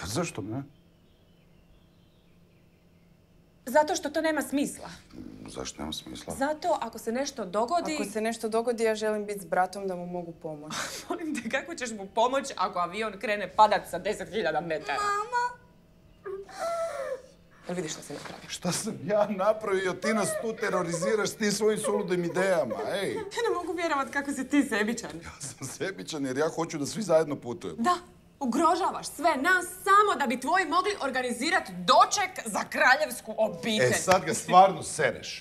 Pa zašto ne? Zato što to nema smisla. Zašto nema smisla? Zato ako se nešto dogodi... Ako se nešto dogodi, ja želim biti s bratom da mu mogu pomoći. Molim te, kako ćeš mu pomoći ako avion krene padat sa 10.000 metara? Mama! Jel vidiš što si napravio? Šta sam ja napravio? Ti nas tu teroriziraš s tim svojim suludim idejama, ej! Ja ne mogu vjerovat kako si ti sebičan. Ja sam sebičan jer ja hoću da svi zajedno putujemo. Da, ugrožavaš sve nas samo da bi tvoji mogli organizirati doček za kraljevsku obitelj. E, sad ga stvarno sereš.